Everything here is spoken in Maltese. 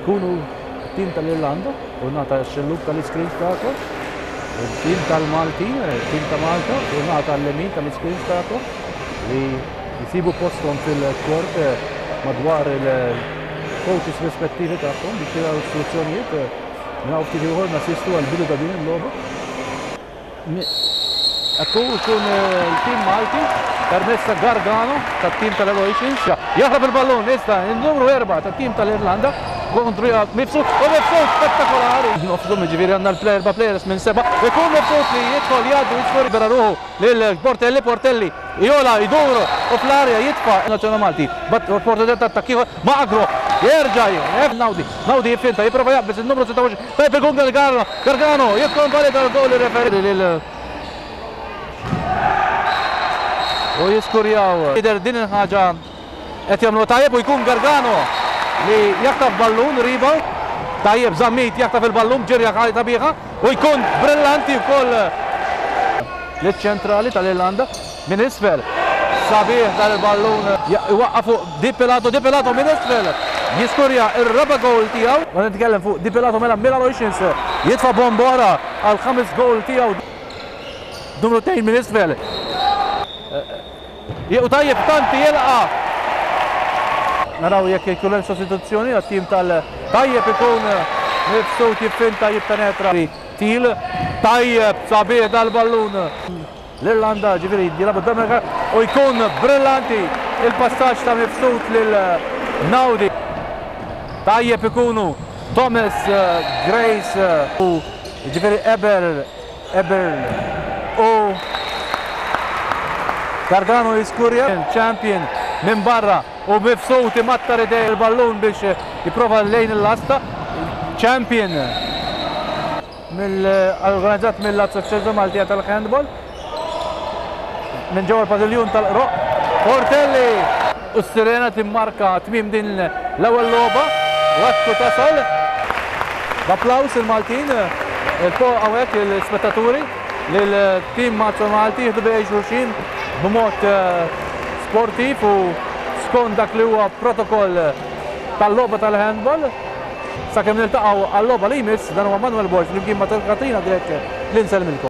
Ikunu t-tim tal-Irlanda u nata x-xellug tal-iscreens tagħkom. Il-tim tal-Maltin, il-tim ta' Malta u nata l-lemin tal-iscreens tagħkom li jsibu posthom fil-kort madwar il-coaches rispettivi tagħhom biex jiraw istruzzjonijiet. Minn hawn ftit ieħor nassistu għall-bidu ta' din il-logħba. Ekku jkun il-tim Malti permezz ta' Gargano tat-tim tal-Aloysians. Jaħrab il-ballun issa il-numru 4 tat-tim tal-Irlanda kontra Mifsud u Mifsud spettakolari. Nofshom jiġifieri għandna l-erba' players minn seba'. Ikun Mifsud li jidħol jgħaddi u jiskor libera ruħu lil Portelli, Portelli jola jdur u fl-arja jitfa' Nazzjonal Malti. Opportunità ta' attakk ieħor ma' Agro. Jerġa' Naudi, Naudi jiffinta jipprova jaqbeż in-numru 26. Tajjeb ikun Gargano, Gargano jikkonvalida l-gowl ir-referee lil u jiskurjaw. Jidher din il-ħaġa qed jagħmlu tajjeb u jkun Gargano li jaħtaf ballun rebound. Tajjeb Zammit jaħtaf il-ballun b'ġirja sabiħa u jkun brillanti wkoll liċ-ċentrali tal-Irlanda minn isfel. Sabiħ dan il-ballun iwaqqa' fuq Di Pilato, Di Pilato minn isfel jiskurja r-raba' gowl tiegħu. Qed nitkellem fuq Di Pilato mela Milan Oceans jitfa' bomba oħra għall-ħames gowl tiegħu. Numru 2 minn isfel. U tajjeb Tanti jilqa'. Naraw jekk ikun hemm sostituzzjoni għat-tim tal tajjeb ikun Mifsud jiffinta jippenetra. Til tajjeb sabiħ dal-ballun. L-Irlanda ġifieri jilagħbu d u jkun brillanti il-passaġġ ta' Mifsud lil Naudi. Tajjeb ikunu Thomas Grace u ġifieri Eber Eber u Gargano jiskurja champion minn barra u Mifsud imattar idej il-ballun biex jipprova lejn il-lasta. Champion Organizzat mill-Assoċjazzjoni Maltija tal-Handball minn ġewwa l-padiljun tal-Qroqq. Portelli u s-sirena timmarka tmiem din l-ewwel logħba u hekk tasal. B'applaws il-Maltin, il-fuq hawnhekk l-ispettaturi lil-tim Malti jieħdu bejn xulxin b'mod sportiv u skont dak li huwa protokoll tal-logħba tal-handball. Sakemm niltaqgħu għal-logħba li jmiss, dan huwa Manuel Borg flimkien ma' Katrina Grech li nsellmilkom.